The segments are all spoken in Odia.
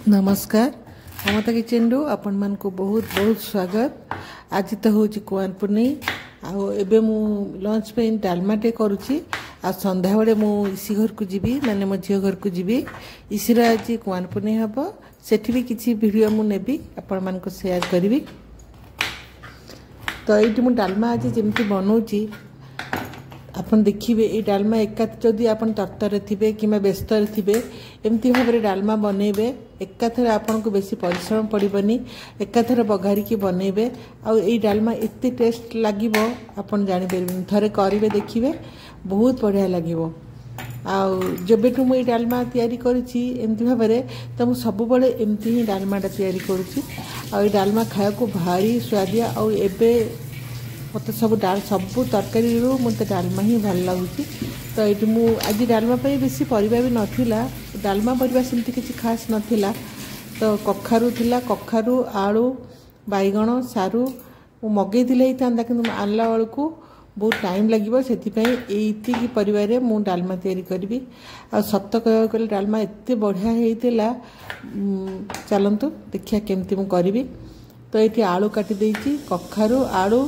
ନମସ୍କାର, ମମତା କିଚେନରୁ ଆପଣମାନଙ୍କୁ ବହୁତ ବହୁତ ସ୍ୱାଗତ। ଆଜି ତ ହେଉଛି କୁଆଁର ପୁନେଇ, ଆଉ ଏବେ ମୁଁ ଲଞ୍ଚ ପାଇଁ ଡାଲମାଟେ କରୁଛି। ଆଉ ସନ୍ଧ୍ୟାବେଳେ ମୁଁ ଇସି ଘରକୁ ଯିବି, ମାନେ ମୋ ଝିଅ ଘରକୁ ଯିବି। ଇସିର ଆଜି କୁଆଁର ପୁନେଇ ହେବ, ସେଠି ବି କିଛି ଭିଡ଼ିଓ ମୁଁ ନେବି, ଆପଣମାନଙ୍କୁ ସେୟାର କରିବି। ତ ଏଇଠି ମୁଁ ଡାଲମା ଆଜି ଯେମିତି ବନାଉଛି ଆପଣ ଦେଖିବେ। ଏଇ ଡାଲମା ଏକା ଯଦି ଆପଣ ତରତରରେ ଥିବେ କିମ୍ବା ବ୍ୟସ୍ତରେ ଥିବେ, ଏମିତି ଭାବରେ ଡାଲମା ବନେଇବେ, ଏକାଥରେ ଆପଣଙ୍କୁ ବେଶୀ ପରିଶ୍ରମ ପଡ଼ିବନି, ଏକାଥରେ ବଘାରିକି ବନେଇବେ। ଆଉ ଏଇ ଡାଲମା ଏତେ ଟେଷ୍ଟ ଲାଗିବ ଆପଣ ଜାଣିପାରିବେନି, ଥରେ କରିବେ ଦେଖିବେ ବହୁତ ବଢ଼ିଆ ଲାଗିବ। ଆଉ ଯେବେଠୁ ମୁଁ ଏଇ ଡାଲମା ତିଆରି କରିଛି ଏମିତି ଭାବରେ, ତ ମୁଁ ସବୁବେଳେ ଏମିତି ହିଁ ଡାଲମାଟା ତିଆରି କରୁଛି। ଆଉ ଏଇ ଡାଲମା ଖାଇବାକୁ ଭାରି ସୁଆଦିଆ। ଆଉ ଏବେ ମୋତେ ସବୁ ସବୁ ତରକାରୀରୁ ମୋତେ ଡାଲମା ହିଁ ଭଲ ଲାଗୁଛି। ତ ଏଇଠି ମୁଁ ଆଜି ଡାଲମା ପାଇଁ ବେଶୀ ପରିବା ବି ନଥିଲା, ଡାଲମା ପରିବା ସେମିତି କିଛି ଖାସ୍ ନଥିଲା। ତ କଖାରୁ ଥିଲା, କଖାରୁ, ଆଳୁ, ବାଇଗଣ, ସାରୁ ମୁଁ ମଗେଇଥିଲେ ହେଇଥାନ୍ତା, କିନ୍ତୁ ମୁଁ ଆଣିଲା ବେଳକୁ ବହୁତ ଟାଇମ୍ ଲାଗିବ, ସେଥିପାଇଁ ଏଇତିକି ପରିବାରେ ମୁଁ ଡାଲମା ତିଆରି କରିବି। ଆଉ ସତ କହିବାକୁ ଗଲେ ଡାଲମା ଏତେ ବଢ଼ିଆ ହେଇଥିଲା। ଚାଲନ୍ତୁ ଦେଖିବା କେମିତି ମୁଁ କରିବି। ତ ଏଇଠି ଆଳୁ କାଟି ଦେଇଛି, କଖାରୁ, ଆଳୁ,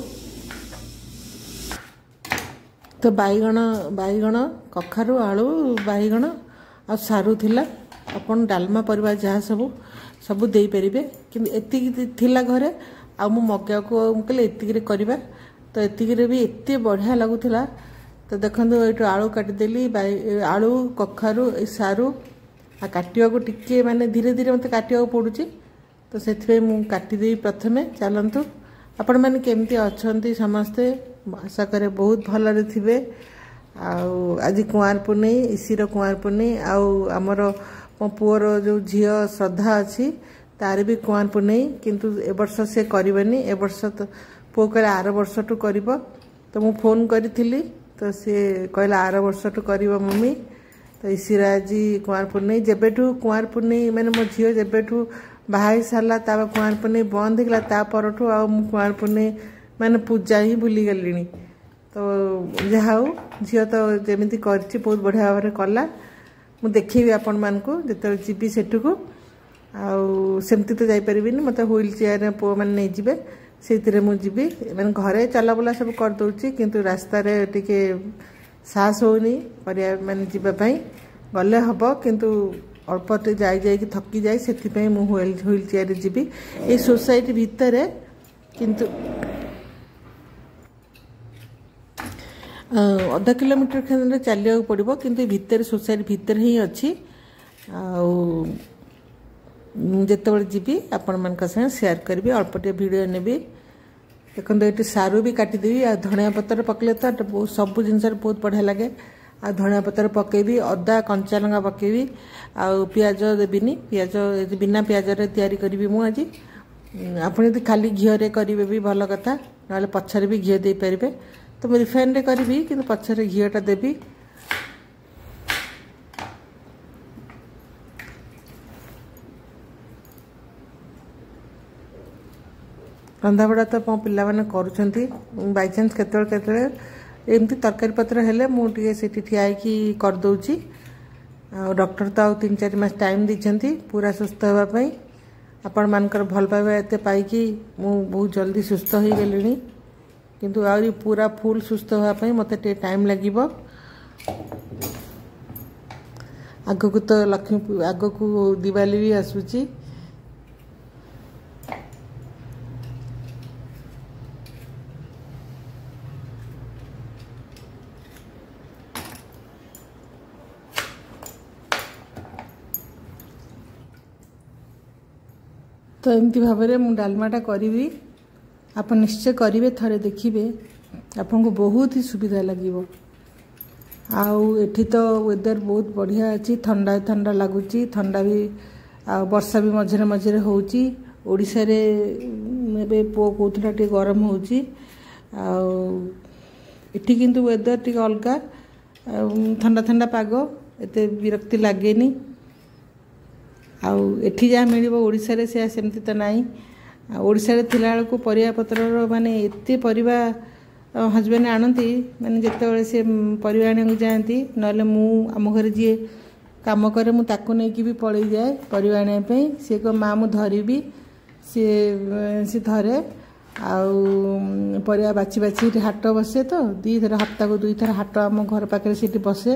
ତ ବାଇଗଣ, କଖାରୁ, ଆଳୁ, ବାଇଗଣ ଆଉ ସାରୁ ଥିଲା। ଆପଣ ଡାଲମା ପରିବା ଯାହା ସବୁ ସବୁ ଦେଇପାରିବେ, କିନ୍ତୁ ଏତିକି ଥିଲା ଘରେ। ଆଉ ମୁଁ ମଗେଇବାକୁ ମୁଁ କହିଲି ଏତିକିରେ କରିବା, ତ ଏତିକିରେ ବି ଏତେ ବଢ଼ିଆ ଲାଗୁଥିଲା। ତ ଦେଖନ୍ତୁ ଏଇଠୁ ଆଳୁ କାଟିଦେଲି, ଆଳୁ, କଖାରୁ, ଏ ସାରୁ। ଆଉ କାଟିବାକୁ ଟିକେ ମାନେ ଧୀରେ ଧୀରେ ମୋତେ କାଟିବାକୁ ପଡ଼ୁଛି, ତ ସେଥିପାଇଁ ମୁଁ କାଟିଦେବି ପ୍ରଥମେ। ଚାଲନ୍ତୁ, ଆପଣମାନେ କେମିତି ଅଛନ୍ତି ସମସ୍ତେ? ଆଶା କରେ ବହୁତ ଭଲରେ ଥିବେ। ଆଉ ଆଜି କୁଆଁର ପୁନେଇ, ଇସିର କୁଆଁର ପୁନେଇ, ଆଉ ଆମର ମୋ ପୁଅର ଯେଉଁ ଝିଅ ଶ୍ରଦ୍ଧା ଅଛି ତାର ବି କୁଆଁର ପୁନେଇ, କିନ୍ତୁ ଏ ବର୍ଷ ସେ କରିବନି। ଏ ବର୍ଷ ତ ପୁଅ କହିଲା ଆର ବର୍ଷଠୁ କରିବ। ତ ମୁଁ ଫୋନ୍ କରିଥିଲି, ତ ସିଏ କହିଲା ଆର ବର୍ଷଠୁ କରିବ ମମ୍ମି। ତ ଇସିର ଆଜି କୁଆଁର ପୁନେଇ। ଯେବେଠୁ କୁଆଁର ପୁନେଇ ମାନେ ମୋ ଝିଅ ଯେବେଠୁ ବାହା ହେଇ ସାରିଲା, ତାପରେ କୁଆଁର ପୁନେଇ ବନ୍ଦ ହେଇଗଲା, ତା ପରଠୁ ଆଉ ମୁଁ କୁଆଁର ପୁନେଇ ମାନେ ପୂଜା ହିଁ ଭୁଲିଗଲିଣି। ତ ଯାହା ହଉ, ଝିଅ ତ ଯେମିତି କରିଛି ବହୁତ ବଢ଼ିଆ ଭାବରେ କଲା। ମୁଁ ଦେଖେଇବି ଆପଣମାନଙ୍କୁ ଯେତେବେଳେ ଯିବି ସେଠୁକୁ। ଆଉ ସେମିତି ତ ଯାଇପାରିବିନି, ମୋତେ ହ୍ୱିଲ୍ ଚେୟାରରେ ପୁଅମାନେ ନେଇଯିବେ, ସେଇଥିରେ ମୁଁ ଯିବି। ମାନେ ଘରେ ଚଲାବୁଲା ସବୁ କରିଦେଉଛି, କିନ୍ତୁ ରାସ୍ତାରେ ଟିକେ ସାହସ ହେଉନି କରିବା, ମାନେ ଯିବା ପାଇଁ। ଗଲେ ହେବ, କିନ୍ତୁ ଅଳ୍ପ ଟିକେ ଯାଇ ଯାଇକି ଥକି ଯାଏ, ସେଥିପାଇଁ ମୁଁ ହ୍ୱିଲ୍ ଚେୟାରରେ ଯିବି। ଏଇ ସୋସାଇଟି ଭିତରେ କିନ୍ତୁ ଅଧା କିଲୋମିଟର ଖଣ୍ଡେ ଚାଲିବାକୁ ପଡ଼ିବ, କିନ୍ତୁ ଭିତରେ ସୋସାଇଟି ଭିତରେ ହିଁ ଅଛି। ଆଉ ମୁଁ ଯେତେବେଳେ ଯିବି ଆପଣମାନଙ୍କ ସାଙ୍ଗେ ସେୟାର କରିବି, ଅଳ୍ପ ଟିକେ ଭିଡ଼ିଓ ନେବି। ଦେଖନ୍ତୁ ଏଠି ସାରୁ ବି କାଟିଦେବି। ଆଉ ଧଣିଆ ପତ୍ର ପକେଇଲେ ତ ସବୁ ଜିନିଷରେ ବହୁତ ବଢ଼ିଆ ଲାଗେ। ଆଉ ଧଣିଆ ପତ୍ର ପକେଇବି, ଅଦା କଞ୍ଚା ଲଙ୍କା ପକେଇବି, ଆଉ ପିଆଜ ଦେବିନି, ପିଆଜ ବିନା ପିଆଜରେ ତିଆରି କରିବି ମୁଁ ଆଜି। ଆପଣ ଯଦି ଖାଲି ଘିଅରେ କରିବେ ବି ଭଲ କଥା, ନହେଲେ ପଛରେ ବି ଘିଅ ଦେଇପାରିବେ। ତ ମୁଁ ରିଫାଇନରେ କରିବି, କିନ୍ତୁ ପଛରେ ଘିଅଟା ଦେବି। ରନ୍ଧାବଢ଼ା ତ ମୋ ପିଲାମାନେ କରୁଛନ୍ତି, ବାଇଚାନ୍ସ କେତେବେଳେ କେତେବେଳେ ଏମିତି ତରକାରୀ ପତ୍ର ହେଲେ ମୁଁ ଟିକେ ସେଠି ଠିଆ ହେଇକି କରିଦେଉଛି। ଆଉ ଡକ୍ଟର ତ ଆଉ 3-4 ମାସ ଟାଇମ୍ ଦେଇଛନ୍ତି ପୁରା ସୁସ୍ଥ ହେବା ପାଇଁ। ଆପଣମାନଙ୍କର ଭଲ ପାଇବା ଏତେ ପାଇକି ମୁଁ ବହୁତ ଜଲ୍ଦି ସୁସ୍ଥ ହେଇଗଲିଣି, କିନ୍ତୁ ଆହୁରି ପୁରା ଫୁଲ୍ ସୁସ୍ଥ ହେବା ପାଇଁ ମୋତେ ଟିକେ ଟାଇମ୍ ଲାଗିବ। ଆଗକୁ ତ ଲକ୍ଷ୍ମୀ, ଆଗକୁ ଦିୱାଲି ବି ଆସୁଛି। ତ ଏମିତି ଭାବରେ ମୁଁ ଡାଲମାଟା କରିବି, ଆପଣ ନିଶ୍ଚୟ କରିବେ ଥରେ ଦେଖିବେ, ଆପଣଙ୍କୁ ବହୁତ ହି ସୁବିଧା ଲାଗିବ। ଆଉ ଏଠି ତ ୱେଦର ବହୁତ ବଢ଼ିଆ ଅଛି, ଥଣ୍ଡା ଥଣ୍ଡା ଲାଗୁଛି, ଥଣ୍ଡା ବି ଆଉ ବର୍ଷା ବି ମଝିରେ ମଝିରେ ହେଉଛି। ଓଡ଼ିଶାରେ ଏବେ ପୁଅ କହୁଥିଲା ଟିକେ ଗରମ ହେଉଛି, ଆଉ ଏଠି କିନ୍ତୁ ୱେଦର ଟିକେ ଅଲଗା, ଆଉ ଥଣ୍ଡା ଥଣ୍ଡା ପାଗ, ଏତେ ବିରକ୍ତି ଲାଗେନି। ଆଉ ଏଠି ଯାହା ମିଳିବ ଓଡ଼ିଶାରେ ସେୟା ସେମିତି ତ ନାହିଁ। ଆଉ ଓଡ଼ିଶାରେ ଥିଲାବେଳକୁ ପରିବା ପତ୍ରର ମାନେ ଏତେ ପରିବା ହଜବେଣ୍ଡ ଆଣନ୍ତି, ମାନେ ଯେତେବେଳେ ସେ ପରିବା ଆଣିବାକୁ ଯାଆନ୍ତି, ନହେଲେ ମୁଁ ଆମ ଘରେ ଯିଏ କାମ କରେ, ମୁଁ ତାକୁ ନେଇକି ବି ପଳେଇ ଯାଏ ପରିବା ଆଣିବା ପାଇଁ। ସିଏ କହ ମା ମୁଁ ଧରିବି, ସିଏ ଧରେ। ଆଉ ପରିବା ବାଛି ବାଛି ଏଠି ହାଟ ବସେ ତ, 2 ଥର ହପ୍ତାକୁ 2 ଥର ହାଟ ଆମ ଘର ପାଖରେ ସେଠି ବସେ।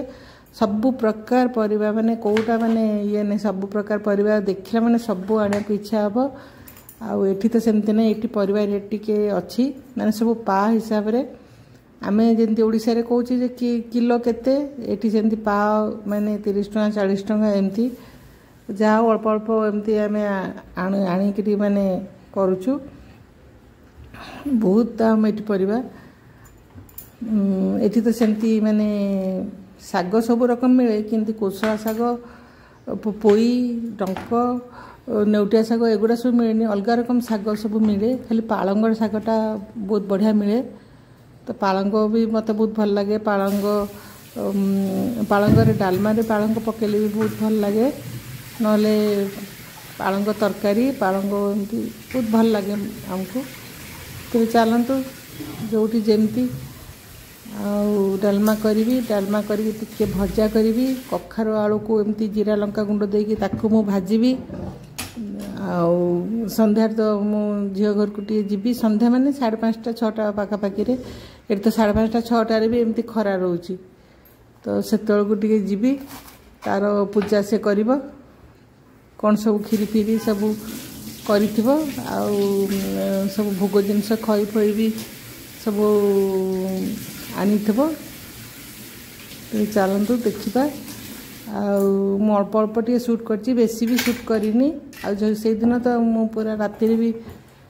ସବୁ ପ୍ରକାର ପରିବା, ମାନେ କେଉଁଟା ମାନେ ଇଏ ନାହିଁ, ସବୁ ପ୍ରକାର ପରିବା ଦେଖିଲା ମାନେ ସବୁ ଆଣିବାକୁ ଇଚ୍ଛା ହେବ। ଆଉ ଏଠି ତ ସେମିତି ନାହିଁ, ଏଠି ପରିବା ରେଟ୍ ଟିକେ ଅଛି, ମାନେ ସବୁ ପା ହିସାବରେ। ଆମେ ଯେମିତି ଓଡ଼ିଶାରେ କହୁଛେ ଯେ କି କିଲୋ କେତେ, ଏଠି ସେମିତି ପା, ମାନେ 30 ଟଙ୍କା 40 ଟଙ୍କା ଏମିତି। ଯାହା ହଉ ଅଳ୍ପ ଅଳ୍ପ ଏମିତି ଆମେ ଆଣିକିରି ମାନେ କରୁଛୁ। ବହୁତ ଦାମ ଏଠି ପରିବା। ଏଠି ତ ସେମିତି ମାନେ ଶାଗ ସବୁ ରକମ ମିଳେ, କିନ୍ତୁ କୋଶଳା ଶାଗ, ପୋଇ, ଡଙ୍କ, ନେଉଟିଆ ଶାଗ ଏଗୁଡ଼ା ସବୁ ମିଳେନି। ଅଲଗା ରକମ ଶାଗ ସବୁ ମିଳେ, ଖାଲି ପାଳଙ୍ଗର ଶାଗଟା ବହୁତ ବଢ଼ିଆ ମିଳେ। ତ ପାଳଙ୍ଗ ବି ମୋତେ ବହୁତ ଭଲ ଲାଗେ। ପାଳଙ୍ଗରେ ଡାଲମାରେ ପାଳଙ୍ଗ ପକେଇଲେ ବି ବହୁତ ଭଲ ଲାଗେ, ନହେଲେ ପାଳଙ୍ଗ ତରକାରୀ, ପାଳଙ୍ଗ ଏମିତି ବହୁତ ଭଲ ଲାଗେ ଆମକୁ। ତେବେ ଚାଲନ୍ତୁ, ଯେଉଁଠି ଯେମିତି। ଆଉ ଡାଲମା କରିବି, ଡାଲମା କରିକି ଟିକେ ଭଜା କରିବି। କଖାରୁ ଆଳୁକୁ ଏମିତି ଜିରା ଲଙ୍କା ଗୁଣ୍ଡ ଦେଇକି ତାକୁ ମୁଁ ଭାଜିବି। ଆଉ ସନ୍ଧ୍ୟାରେ ତ ମୁଁ ଝିଅ ଘରକୁ ଟିକେ ଯିବି। ସନ୍ଧ୍ୟା ମାନେ 5:30 6ଟା ପାଖାପାଖିରେ। ଏଠି ତ 5:30 6ଟାରେ ବି ଏମିତି ଖରା ରହୁଛି। ତ ସେତେବେଳକୁ ଟିକେ ଯିବି, ତାର ପୂଜା ସେ କରିବ, କ'ଣ ସବୁ କ୍ଷୀରି ଫିରି ସବୁ କରିଥିବ, ଆଉ ସବୁ ଭୋଗ ଜିନିଷ ଖଇ ଫଇ ବି ସବୁ ଆଣିଥିବ। ଚାଲନ୍ତୁ ଦେଖିବା। ଆଉ ମୁଁ ଅଳ୍ପ ଅଳ୍ପ ଟିକେ ସୁଟ୍ କରିଛି, ବେଶୀ ବି ସୁଟ୍ କରିନି। ଆଉ ସେଇଦିନ ତ ମୁଁ ପୁରା ରାତିରେ ବି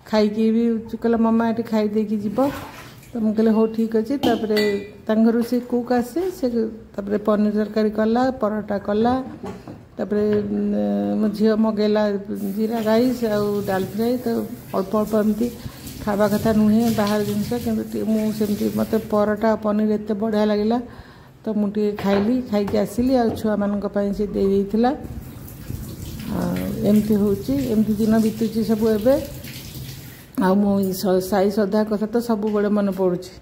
ଖାଇକି ବି କହିଲା, ମାମା ଏଠି ଖାଇ ଦେଇକି ଯିବ। ତ ମୁଁ କହିଲି ହଉ ଠିକ୍ ଅଛି। ତାପରେ ତାଙ୍କ ଘରୁ ସେ କୁକ୍ ଆସେ, ସେ ତାପରେ ପନିର ତରକାରୀ କଲା, ପରଟା କଲା। ତାପରେ ମୋ ଝିଅ ମଗେଇଲା ଜିରା ରାଇସ୍ ଆଉ ଡାଲ ଫ୍ରାଏ। ତ ଅଳ୍ପ ଅଳ୍ପ ଏମିତି ଖାଇବା କଥା ନୁହେଁ ବାହାର ଜିନିଷ, କିନ୍ତୁ ମୁଁ ସେମିତି ମୋତେ ପରଟା ଆଉ ପନିର ଏତେ ବଢ଼ିଆ ଲାଗିଲା, ତ ମୁଁ ଟିକେ ଖାଇଲି, ଖାଇକି ଆସିଲି। ଆଉ ଛୁଆମାନଙ୍କ ପାଇଁ ସେ ଦେଇ ଦେଇଥିଲା। ଆଉ ଏମିତି ହେଉଛି, ଏମିତି ଦିନ ବିତୁଛି ସବୁ ଏବେ। ଆଉ ମୁଁ ସାଇ ଶ୍ରଦ୍ଧା କଥା ତ ସବୁବେଳେ ମନେ ପଡ଼ୁଛି,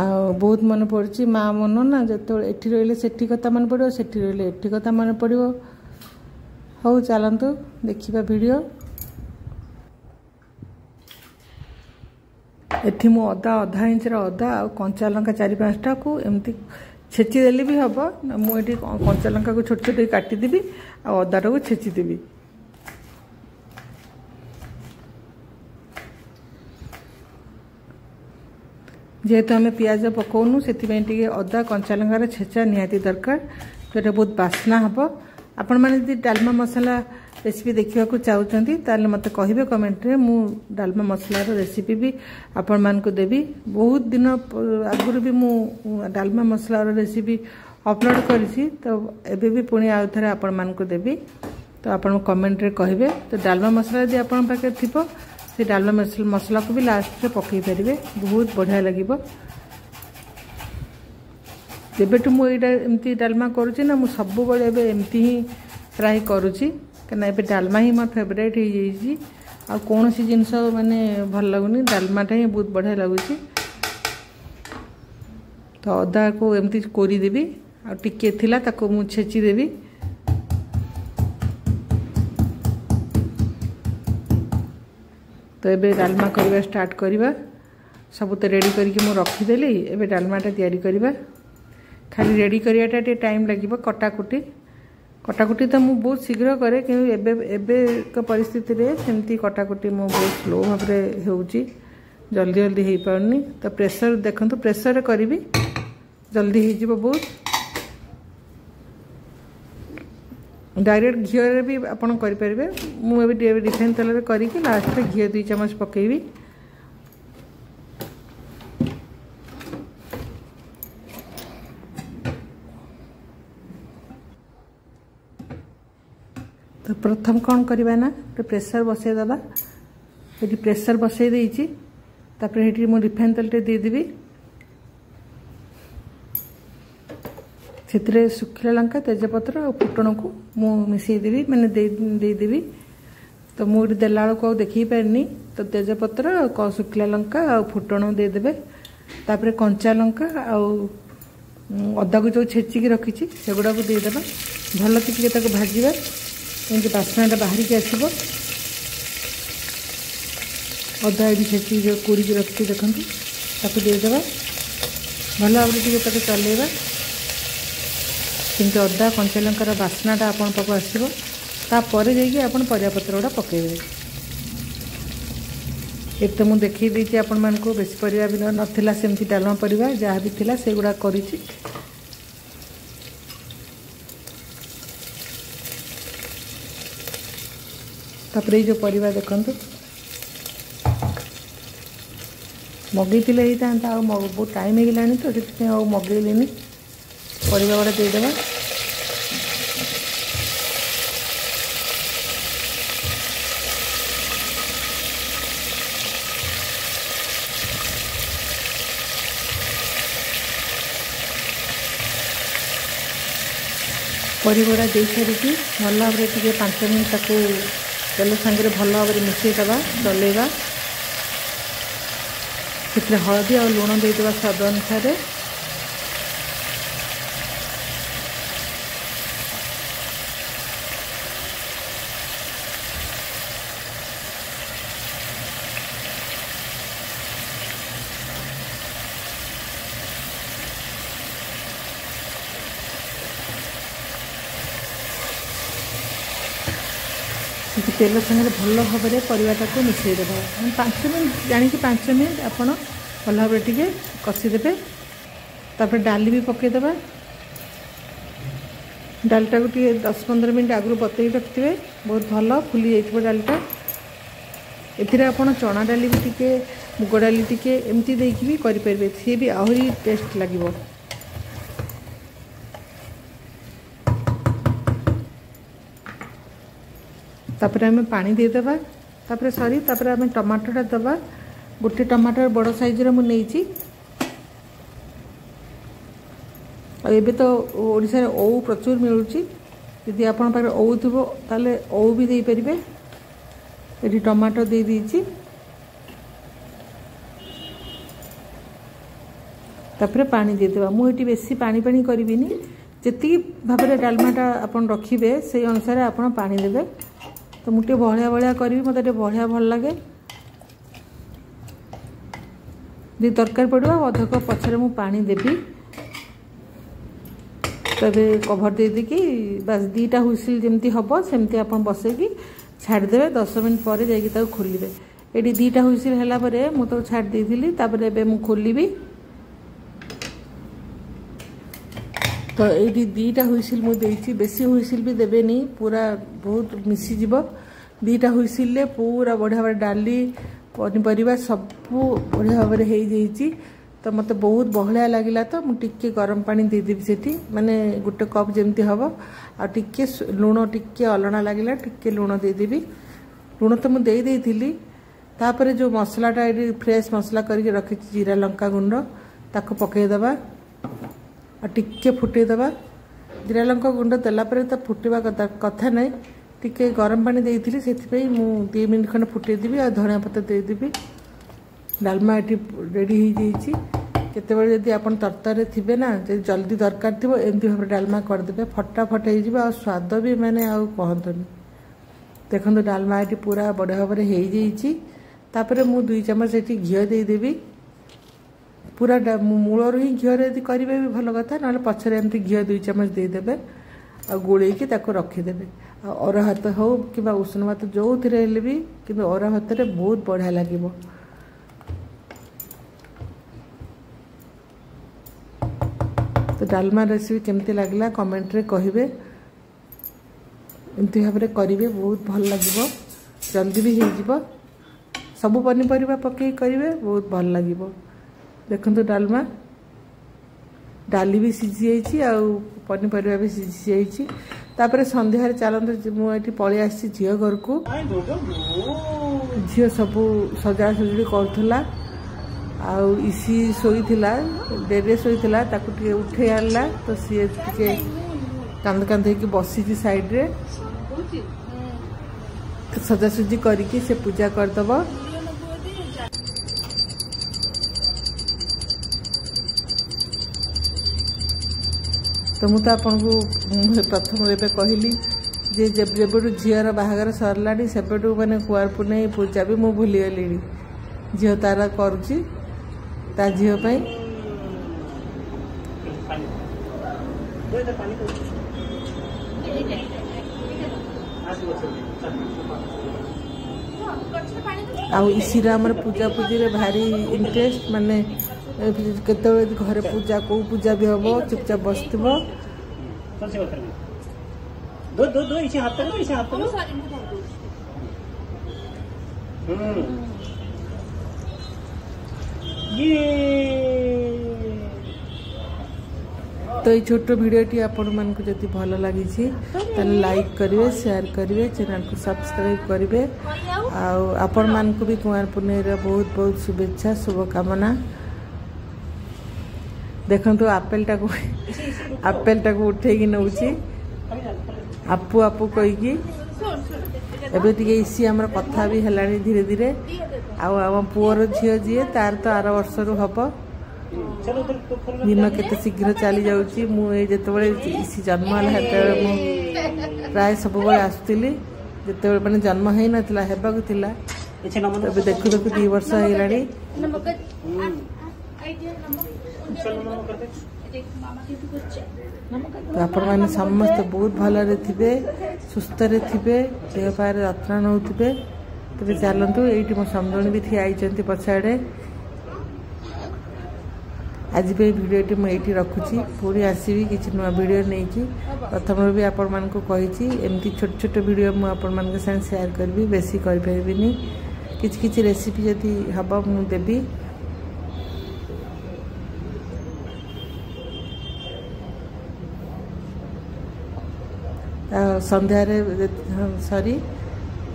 ଆଉ ବହୁତ ମନେ ପଡ଼ୁଛି। ମା ମନ ନା, ଯେତେବେଳେ ଏଠି ରହିଲେ ସେଠି କଥା ମନେ ପଡ଼ିବ, ସେଠି ରହିଲେ ଏଠି କଥା ମନେ ପଡ଼ିବ। ହଉ ଚାଲନ୍ତୁ ଦେଖିବା ଭିଡ଼ିଓ। ଏଠି ମୁଁ ଅଦା, ଅଧା ଇଞ୍ଚର ଅଦା ଆଉ କଞ୍ଚା ଲଙ୍କା 4 5ଟାକୁ ଏମିତି ଛେଚି ଦେଲେ ବି ହେବ। ମୁଁ ଏଠି କଞ୍ଚା ଲଙ୍କାକୁ ଛୋଟ ଛୋଟ କାଟିଦେବି ଆଉ ଅଦାଟାକୁ ଛେଚିଦେବି। ଯେହେତୁ ଆମେ ପିଆଜ ପକାଉନୁ, ସେଥିପାଇଁ ଟିକେ ଅଦା କଞ୍ଚା ଲଙ୍କାର ଛେଚା ନିହାତି ଦରକାର, ସେଇଟା ବହୁତ ବାସ୍ନା ହେବ। ଆପଣମାନେ ଯଦି ଡାଲମା ମସଲା ରେସିପି ଦେଖିବାକୁ ଚାହୁଁଛନ୍ତି, ତାହେଲେ ମୋତେ କହିବେ କମେଣ୍ଟରେ। ମୁଁ ଡାଲମା ମସଲାର ରେସିପି ବି ଆପଣମାନଙ୍କୁ ଦେବି। ବହୁତ ଦିନ ଆଗରୁ ବି ମୁଁ ଡାଲମା ମସଲାର ରେସିପି ଅପଲୋଡ଼ କରିଛି, ତ ଏବେ ବି ପୁଣି ଆଉ ଥରେ ଆପଣମାନଙ୍କୁ ଦେବି। ତ ଆପଣ କମେଣ୍ଟରେ କହିବେ। ତ ଡାଲମା ମସଲା ଯଦି ଆପଣଙ୍କ ପାଖରେ ଥିବ, ସେ ଡାଲମା ମସଲାକୁ ବି ଲାଷ୍ଟରେ ପକାଇ ପାରିବେ, ବହୁତ ବଢ଼ିଆ ଲାଗିବ। ଯେବେଠୁ ମୁଁ ଏଇଟା ଏମିତି ଡାଲମା କରୁଛି ନା, ମୁଁ ସବୁବେଳେ ଏବେ ଏମିତି ହିଁ ପ୍ରାୟ କରୁଛି, କାହିଁକିନା ଏବେ ଡାଲମା ହିଁ ମୋର ଫେଭରାଇଟ୍ ହେଇଯାଇଛି। ଆଉ କୌଣସି ଜିନିଷ ମାନେ ଭଲ ଲାଗୁନି, ଡାଲମାଟା ହିଁ ବହୁତ ବଢ଼ିଆ ଲାଗୁଛି। ତ ଅଦାକୁ ଏମିତି କୋରିଦେବି, ଆଉ ଟିକିଏ ଥିଲା ତାକୁ ମୁଁ ଛେଚିଦେବି। ତ ଏବେ ଡାଲମା କରିବା ଷ୍ଟାର୍ଟ କରିବା। ସବୁ ତ ରେଡ଼ି କରିକି ମୁଁ ରଖିଦେଲି, ଏବେ ଡାଲମାଟା ତିଆରି କରିବା। ଖାଲି ରେଡ଼ି କରିବାଟା ଟିକେ ଟାଇମ୍ ଲାଗିବ। କଟାକୁଟି ତ ମୁଁ ବହୁତ ଶୀଘ୍ର କରେ, କିନ୍ତୁ ଏବେ ଏବେକା ପରିସ୍ଥିତିରେ ସେମିତି କଟାକୁଟି ମୁଁ ବହୁତ ସ୍ଲୋ ଭାବରେ ହେଉଛି, ଜଲ୍ଦି ଜଲ୍ଦି ହେଇପାରୁନି। ତ ପ୍ରେସର ଦେଖନ୍ତୁ, ପ୍ରେସରରେ କରିବି, ଜଲ୍ଦି ହେଇଯିବ ବହୁତ। ଡାଇରେକ୍ଟ ଘିଅରେ ବି ଆପଣ କରିପାରିବେ। ମୁଁ ଏବେ ରିଫାଇନ୍ ତେଲରେ କରିକି ଲାଷ୍ଟରେ ଘିଅ 2 ଚାମଚ ପକାଇବି। ତ ପ୍ରଥମ କ'ଣ କରିବା ନା, ଗୋଟେ ପ୍ରେସର ବସାଇଦେବା। ଏଠି ପ୍ରେସର ବସାଇ ଦେଇଛି। ତାପରେ ଏଠି ମୁଁ ରିଫାଇନ୍ ତେଲଟେ ଦେଇଦେବି। ସେଥିରେ ଶୁଖିଲା ଲଙ୍କା, ତେଜପତ୍ର ଆଉ ଫୁଟଣକୁ ମୁଁ ମିଶାଇଦେବି, ମାନେ ଦେଇଦେବି। ତ ମୁଁ ଏଠି ଦେଲା ବେଳକୁ ଆଉ ଦେଖେଇ ପାରିନି। ତ ତେଜପତ୍ର, ଶୁଖିଲା ଲଙ୍କା ଆଉ ଫୁଟଣ ଦେଇଦେବେ। ତାପରେ କଞ୍ଚା ଲଙ୍କା ଆଉ ଅଦାକୁ ଯେଉଁ ଛେଚିକି ରଖିଛି ସେଗୁଡ଼ାକୁ ଦେଇଦେବା। ଭଲକି ଟିକେ ତାକୁ ଭାଜିବା, ଏମିତି ବାସ୍ନାଟା ବାହାରିକି ଆସିବ। ଅଦା ଏଠି ଛେଚିକି ଯେଉଁ କୋରିକି ରଖିଛି ଦେଖନ୍ତୁ, ତାକୁ ଦେଇଦେବା। ଭଲ ଭାବରେ ଟିକେ ତାକୁ ଚଲେଇବା, ଯେମିତି ଅଦା କଞ୍ଚା ଲଙ୍କାର ବାସ୍ନାଟା ଆପଣଙ୍କ ପାଖକୁ ଆସିବ। ତାପରେ ଯାଇକି ଆପଣ ପରିବାପତ୍ର ଗୁଡ଼ା ପକାଇବେ। ଏଠି ତ ମୁଁ ଦେଖେଇ ଦେଇଛି ଆପଣମାନଙ୍କୁ, ବେଶୀ ପରିବା ବି ନଥିଲା, ସେମିତି ଡାଲମା ପରିବା ଯାହା ବି ଥିଲା ସେଗୁଡ଼ା କରିଛି। ତାପରେ ଏଇ ଯେଉଁ ପରିବା ଦେଖନ୍ତୁ ମଗେଇଥିଲେ ହେଇଥାନ୍ତା, ଆଉ ବହୁତ ଟାଇମ୍ ହେଇଗଲାଣି ତ ସେଥିପାଇଁ ଆଉ ମଗେଇଲିନି। ପରିବା ଗୁଡ଼ା ଦେଇଦେବା। ପରିବା ଦେଇସାରିକି ଭଲ ଭାବରେ ଟିକେ 5 ମିନିଟ୍ ତାକୁ ତେଲ ସାଙ୍ଗରେ ଭଲ ଭାବରେ ମିଶାଇଦେବା, ଚଲେଇବା। ସେଥିରେ ହଳଦୀ ଆଉ ଲୁଣ ଦେଇଦେବା ସ୍ୱାଦ ଅନୁସାରେ। ତେଲ ସାଙ୍ଗରେ ଭଲ ଭାବରେ ପରିବାଟାକୁ ମିଶାଇଦେବା 5 ମିନିଟ୍, ଜାଣିକି 5 ମିନିଟ୍ ଆପଣ ଭଲ ଭାବରେ ଟିକେ କଷିଦେବେ। ତାପରେ ଡାଲି ବି ପକାଇଦେବା। ଡାଲିଟାକୁ ଟିକେ 10-15 ମିନିଟ୍ ଆଗରୁ ବତେଇ ରଖିଥିବେ, ବହୁତ ଭଲ ଫୁଲି ଯାଇଥିବ ଡାଲିଟା। ଏଥିରେ ଆପଣ ଚଣା ଡାଲି ବି ଟିକେ, ମୁଗ ଡାଲି ଟିକେ ଏମିତି ଦେଇକି ବି କରିପାରିବେ, ସିଏ ବି ଆହୁରି ଟେଷ୍ଟ ଲାଗିବ। ତାପରେ ଆମେ ପାଣି ଦେଇଦେବା। ତାପରେ ସରି, ତାପରେ ଆମେ ଟମାଟୋଟା ଦେବା। ଗୋଟେ ଟମାଟୋ ବଡ଼ ସାଇଜ୍ର ମୁଁ ନେଇଛି। ଆଉ ଏବେ ତ ଓଡ଼ିଶାରେ ଓଉ ପ୍ରଚୁର ମିଳୁଛି, ଯଦି ଆପଣଙ୍କ ପାଖରେ ଓଉ ଥିବ ତାହେଲେ ଓଉ ବି ଦେଇପାରିବେ। ଏଠି ଟମାଟୋ ଦେଇଦେଇଛି। ତାପରେ ପାଣି ଦେଇଦେବା। ମୁଁ ଏଠି ବେଶୀ ପାଣି ପାଣି କରିବିନି, ଯେତିକି ଭାବରେ ଡାଲମାଟା ଆପଣ ରଖିବେ ସେଇ ଅନୁସାରେ ଆପଣ ପାଣି ଦେବେ। ତ ମୁଁ ଟିକେ ବହଳିଆ ବହଳିଆ କରିବି, ମୋତେ ଟିକେ ବହଳିଆ ଭଲ ଲାଗେ। ଯଦି ଦରକାର ପଡ଼ିବ ଅଧ କପ୍ ପଛରେ ମୁଁ ପାଣି ଦେବି। ତ ଏବେ କଭର୍ ଦେଇଦେଇକି ବାସ୍ 2ଟା ହୁଇସିଲ୍ ଯେମିତି ହେବ ସେମିତି ଆପଣ ବସେଇକି ଛାଡ଼ିଦେବେ। 10 ମିନିଟ୍ ପରେ ଯାଇକି ତାକୁ ଖୋଲିବେ। ଏଠି 2ଟା ହୁଇସିଲ୍ ହେଲା ପରେ ମୁଁ ତାକୁ ଛାଡ଼ି ଦେଇଥିଲି। ତାପରେ ଏବେ ମୁଁ ଖୋଲିବି। ତ ଏଇଠି 2ଟା ହୁଇସିଲ୍ ମୁଁ ଦେଇଛି, ବେଶୀ ହୁଇସିଲ୍ ବି ଦେବେନି, ପୁରା ବହୁତ ମିଶିଯିବ। 2ଟା ହୁଇସିଲ୍ରେ ପୁରା ବଢ଼ିଆ ଭାବରେ ଡାଲି ପନିପରିବା ସବୁ ବଢ଼ିଆ ଭାବରେ ହେଇଯାଇଛି। ତ ମୋତେ ବହୁତ ବହଳିଆ ଲାଗିଲା, ତ ମୁଁ ଟିକେ ଗରମ ପାଣି ଦେଇଦେବି ସେଠି, ମାନେ ଗୋଟେ କପ୍ ଯେମିତି ହେବ। ଆଉ ଟିକେ ଲୁଣ, ଟିକେ ଅଲଣା ଲାଗିଲା, ଟିକେ ଲୁଣ ଦେଇଦେବି। ଲୁଣ ତ ମୁଁ ଦେଇ ଦେଇଥିଲି। ତାପରେ ଯେଉଁ ମସଲାଟା ଏଠି ଫ୍ରେଶ୍ ମସଲା କରିକି ରଖିଛି, ଜିରା ଲଙ୍କା ଗୁଣ୍ଡ, ତାକୁ ପକାଇଦେବା ଆଉ ଟିକେ ଫୁଟେଇଦେବା। ଜିରା ଲଙ୍କା ଗୁଣ୍ଡ ଦେଲା ପରେ ତ ଫୁଟିବା କଥା ନାହିଁ, ଟିକେ ଗରମ ପାଣି ଦେଇଥିଲି ସେଥିପାଇଁ ମୁଁ 2 ମିନିଟ୍ ଖଣ୍ଡେ ଫୁଟେଇଦେବି ଆଉ ଧନିଆ ପତ୍ର ଦେଇଦେବି। ଡାଲମା ଏଠି ରେଡ଼ି ହେଇଯାଇଛି। କେତେବେଳେ ଯଦି ଆପଣ ତରତରରେ ଥିବେ ନା, ଯଦି ଜଲ୍ଦି ଦରକାର ଥିବ, ଏମିତି ଭାବରେ ଡାଲମା କରିଦେବେ, ଫଟାଫଟ ହେଇଯିବ ଆଉ ସ୍ୱାଦ ବି ମାନେ ଆଉ କହନ୍ତୁନି। ଦେଖନ୍ତୁ ଡାଲମା ଏଠି ପୁରା ବଢ଼ିଆ ଭାବରେ ହେଇଯାଇଛି। ତାପରେ ମୁଁ 2 ଚାମଚ ଏଠି ଘିଅ ଦେଇଦେବି। ପୁରା ମୂଳରୁ ହିଁ ଘିଅରେ ଯଦି କରିବେ ବି ଭଲ କଥା, ନହେଲେ ପଛରେ ଏମିତି ଘିଅ 2 ଚାମଚ ଦେଇଦେବେ ଆଉ ଗୋଳେଇକି ତାକୁ ରଖିଦେବେ। ଆଉ ଅରୁଆ ଭାତ ହେଉ କିମ୍ବା ଉଷୁନା ଭାତ ଯେଉଁଥିରେ ହେଲେ ବି, କିନ୍ତୁ ଅରୁଆ ଭାତରେ ବହୁତ ବଢ଼ିଆ ଲାଗିବ। ତ ଡାଲମା ରେସିପି କେମିତି ଲାଗିଲା କମେଣ୍ଟରେ କହିବେ। ଏମିତି ଭାବରେ କରିବେ, ବହୁତ ଭଲ ଲାଗିବ, ଜଲ୍ଦି ବି ହେଇଯିବ। ସବୁ ପନିପରିବା ପକେଇ କରିବେ, ବହୁତ ଭଲ ଲାଗିବ। ଦେଖନ୍ତୁ ଡାଲମା, ଡାଲି ବି ସିଝି ଯାଇଛି ଆଉ ପନିପରିବା ବି ସିଝି ଯାଇଛି। ତାପରେ ସନ୍ଧ୍ୟାରେ ଚାଲନ୍ତୁ, ମୁଁ ଏଠି ପଳେଇ ଆସିଛି ଝିଅ ଘରକୁ। ଝିଅ ସବୁ ସଜାସଜୁଡ଼ି କରୁଥିଲା ଆଉ ଇସି ଶୋଇଥିଲା, ଡେରିରେ ଶୋଇଥିଲା, ତାକୁ ଟିକେ ଉଠେଇ ଆଣିଲା। ତ ସିଏ ଟିକେ କାନ୍ଦ କାନ୍ଦ ହେଇକି ବସିଛି ସାଇଡ଼ରେ। ସଜାସଜି କରିକି ସେ ପୂଜା କରିଦେବ। ମୁଁ ତ ଆପଣଙ୍କୁ ପ୍ରଥମରୁ ଏବେ କହିଲି ଯେ ଯେବେଠୁ ଝିଅର ବାହାଘର ସରିଲାଣି ସେବେଠୁ ମାନେ କୁଆଁର ପୁନେଇ ପୂଜା ବି ମୁଁ ଭୁଲିଗଲିଣି। ଝିଅ ତାର କରୁଛି ତା ଝିଅ ପାଇଁ। ଆଉ ଇସିର ଆମର ପୂଜା ପୂଜିରେ ଭାରି ଇଣ୍ଟରେଷ୍ଟ, ମାନେ କେତେବେଳେ ଘରେ ପୂଜା କେଉଁ ପୂଜା ବି ହେବ ଚୁପଚାପ ବସିଥିବ। ତ ଏଇ ଛୋଟ ଭିଡ଼ିଓଟି ଆପଣମାନଙ୍କୁ ଯଦି ଭଲ ଲାଗିଛି ତାହେଲେ ଲାଇକ୍ କରିବେ, ସେୟାର କରିବେ, ଚ୍ୟାନେଲକୁ ସବସ୍କ୍ରାଇବ୍ କରିବେ। ଆଉ ଆପଣମାନଙ୍କୁ ବି କୁଆଁର ପୁନେଇର ବହୁତ ବହୁତ ଶୁଭେଚ୍ଛା, ଶୁଭକାମନା। ଦେଖନ୍ତୁ ଆପେଲଟାକୁ ଉଠେଇକି ନେଉଛି ଆପୁ ଆପୁ କହିକି। ଏବେ ଟିକେ ଇସି ଆମର କଥା ବି ହେଲାଣି ଧୀରେ ଧୀରେ। ଆଉ ଆମ ପୁଅର ଝିଅ ଯିଏ ତାର ତ ଆର ବର୍ଷରୁ ହେବ। ଦିନ କେତେ ଶୀଘ୍ର ଚାଲି ଯାଉଛି। ମୁଁ ଏଇ ଯେତେବେଳେ ଇସି ଜନ୍ମ ହେଲା ସେତେବେଳେ ମୁଁ ପ୍ରାୟ ସବୁବେଳେ ଆସୁଥିଲି, ଯେତେବେଳେ ମାନେ ଜନ୍ମ ହେଇନଥିଲା, ହେବାକୁ ଥିଲା। ଏବେ ଦେଖୁ ଦେଖୁ 2 ବର୍ଷ ହେଇଗଲାଣି। ତ ଆପଣମାନେ ସମସ୍ତେ ବହୁତ ଭଲରେ ଥିବେ, ସୁସ୍ଥରେ ଥିବେ, ଦେହ ପାରେ ଯତ୍ନ ନେଉଥିବେ। ତେବେ ଚାଲନ୍ତୁ, ଏଇଠି ମୋ ସମୁଦୁଣୀ ବି ଠିଆ ହେଇଛନ୍ତି ପଛଆଡ଼େ। ଆଜି ପାଇଁ ଭିଡ଼ିଓଟି ମୁଁ ଏଇଠି ରଖୁଛି। ପୁଣି ଆସିବି କିଛି ନୂଆ ଭିଡ଼ିଓ ନେଇକି। ପ୍ରଥମରୁ ବି ଆପଣମାନଙ୍କୁ କହିଛି ଏମିତି ଛୋଟ ଛୋଟ ଭିଡ଼ିଓ ମୁଁ ଆପଣମାନଙ୍କ ସାଙ୍ଗେ ସେୟାର କରିବି, ବେଶୀ କରିପାରିବିନି। କିଛି କିଛି ରେସିପି ଯଦି ହେବ ମୁଁ ଦେବି। ସନ୍ଧ୍ୟାରେ ସରି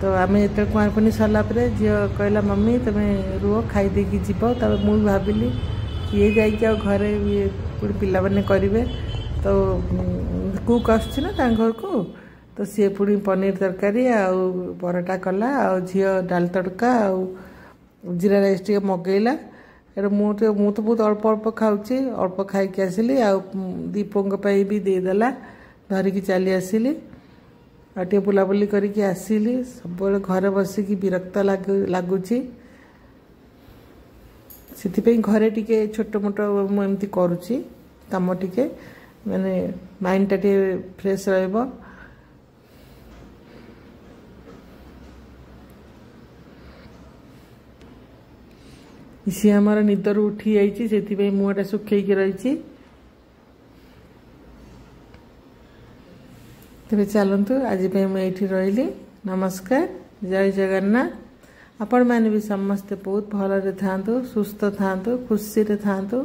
ତ ଆମେ ଯେତେବେଳେ କୁଆଁର ପୁନେଇ ସରିଲା ପରେ ଝିଅ କହିଲା ମମି ତୁମେ ରୁହ ଖାଇଦେଇକି ଯିବ। ତାପରେ ମୁଁ ବି ଭାବିଲି କିଏ ଯାଇକି ଆଉ ଘରେ ଇଏ ପୁଣି ପିଲାମାନେ କରିବେ। ତ କୁକ୍ ଆସୁଛି ନା ତାଙ୍କ ଘରକୁ, ତ ସିଏ ପୁଣି ପନିର ତରକାରୀ ଆଉ ପରଟା କଲା, ଆଉ ଝିଅ ଡାଲି ତଡ଼କା ଆଉ ଜିରା ରାଇସ୍ ଟିକେ ମଗେଇଲା। ଏଇଟା ମୁଁ ତ ବହୁତ ଅଳ୍ପ ଅଳ୍ପ ଖାଉଛି, ଅଳ୍ପ ଖାଇକି ଆସିଲି। ଆଉ ଦୀପଙ୍କ ପାଇଁ ବି ଦେଇଦେଲା, ଧରିକି ଚାଲି ଆସିଲି। ଆଉ ଟିକେ ବୁଲାବୁଲି କରିକି ଆସିଲି। ସବୁବେଳେ ଘରେ ବସିକି ବିରକ୍ତ ଲାଗୁଛି, ସେଥିପାଇଁ ଘରେ ଟିକେ ଛୋଟ ମୋଟ ମୁଁ ଏମିତି କରୁଛି କାମ, ଟିକେ ମାନେ ମାଇଣ୍ଡଟା ଟିକେ ଫ୍ରେଶ୍ ରହିବ। ସିଏ ଆମର ନିଦରୁ ଉଠି ଯାଇଛି, ସେଥିପାଇଁ ମୁହଁଟା ଶୁଖେଇକି ରହିଛି। ତେବେ ଚାଲନ୍ତୁ, ଆଜି ପାଇଁ ମୁଁ ଏଇଠି ରହିଲି। ନମସ୍କାର, ଜୟ ଜଗନ୍ନାଥ। ଆପଣମାନେ ବି ସମସ୍ତେ ବହୁତ ଭଲରେ ଥାଆନ୍ତୁ, ସୁସ୍ଥ ଥାଆନ୍ତୁ, ଖୁସିରେ ଥାଆନ୍ତୁ।